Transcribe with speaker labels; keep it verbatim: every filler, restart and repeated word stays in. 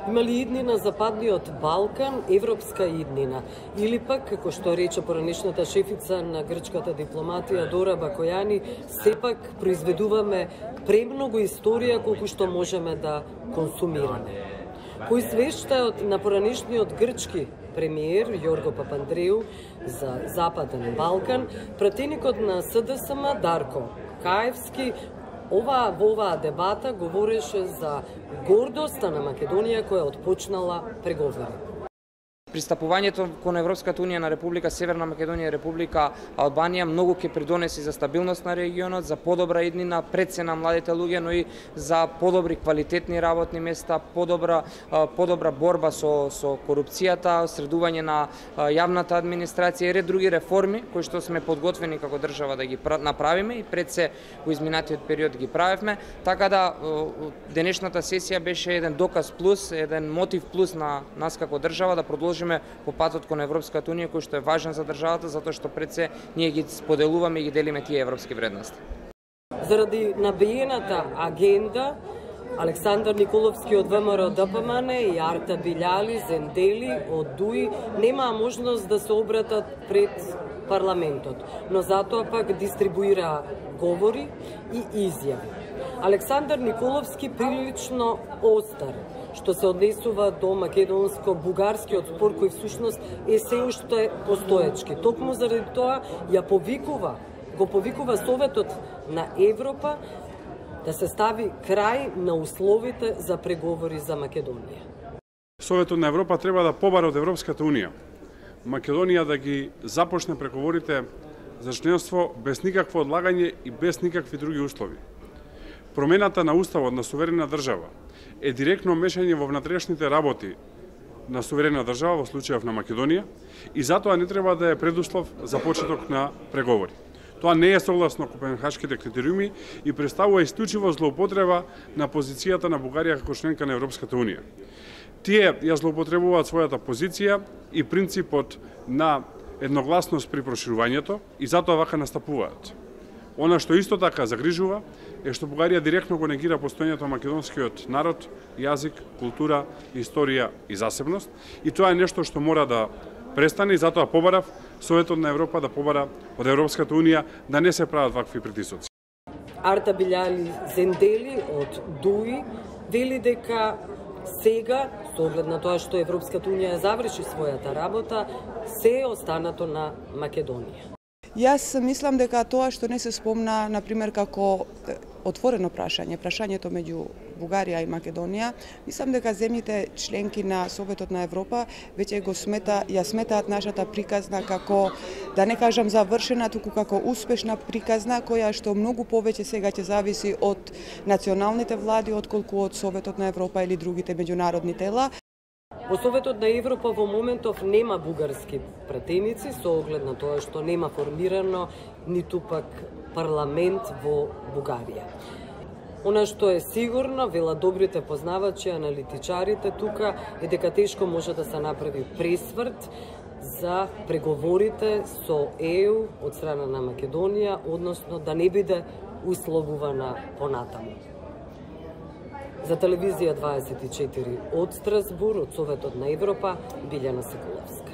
Speaker 1: Има ли иднина Западниот Балкан, европска иднина? Или пак, како што рече поранешната шефица на грчката дипломатија Дора Бакојани, сепак произведуваме премногу историја колку што можеме да консумираме. По извештајот на поранешниот грчки премиер Јорго Папандреу за Западен Балкан, пратеникот на СДСМ Дарко Каевски Ова, во оваа дебата говореше за гордоста на Македонија која отпочнала преговори.
Speaker 2: Пристапувањето кон Европската унија на Република Северна Македонија и Република Албанија многу ќе придонеси за стабилност на регионот, за подобра иднина пред се на младите луѓе, но и за подобри квалитетни работни места, подобра подобра борба со со корупцијата, средување на јавната администрација и ред други реформи кои што сме подготвени како држава да ги направиме и пред се во изминатиот период ги правевме, така да денешната сесија беше еден доказ плюс, еден мотив плюс на нас како држава да продолжиме по патот кон Европската унија, кој што е важен за државата, затоа што пред се ние ги споделуваме и ги делиме тие европски вредности.
Speaker 1: Заради набиената агенда, Александар Николовски од ВМРО ДПМН и Арта Билјали Зендели од ДУИ немаа можност да се обратат пред парламентот, но затоа пак дистрибуира говори и изјави. Александар Николовски прилично остар што се однесува до македонско-бугарскиот спор кој всушност е се уште постоечки. Токму заради тоа ја повикува, го повикува Советот на Европа да се стави крај на условите за преговори за Македонија.
Speaker 3: Советот на Европа треба да побара од Европската унија Македонија да ги започне преговорите за членство без никакво одлагање и без никакви други услови. Промената на уставот на суверена држава е директно мешање во внатрешните работи на суверена држава, во случајов на Македонија, и затоа не треба да е предуслов за почеток на преговори. Тоа не е согласно Копенхашките критериуми и представува исклучиво злоупотреба на позицијата на Бугарија како членка на Европската унија. Тие ја злоупотребуваат својата позиција и принципот на едногласност при проширувањето и затоа вака настапуваат. Она што исто така загрижува е што Бугарија директно го негира постоењето на македонскиот народ, јазик, култура, историја и засебност, и тоа е нешто што мора да престане и затоа побарав Советот на Европа да побара од Европската унија да не се прават вакви притисоци.
Speaker 1: Арта Билјали Зендели од ДУИ вели дека сега, со оглед на тоа што Европската унија заврши својата работа, се е останато на Македонија.
Speaker 4: Јас мислам дека тоа што не се спомна, например, како отворено прашање, прашањето меѓу Бугарија и Македонија, мислам дека земјите членки на Советот на Европа веќе го смета, ја сметаат нашата приказна како, да не кажам завршена, туку како успешна приказна, која што многу повеќе сега ќе зависи од националните влади, отколку од Советот на Европа или другите меѓународни тела.
Speaker 1: Во Советот на Европа во моментов нема бугарски пратеници со оглед на тоа што нема формирано ниту пак парламент во Бугарија. Она што е сигурно, велат добрите познавачи, аналитичарите тука, е дека тешко може да се направи пресврт за преговорите со Е У од страна на Македонија, односно да не биде условувана понатаму. За телевизија дваесет и четири од Страсбур, од Советот на Европа, Билјана Соколовска.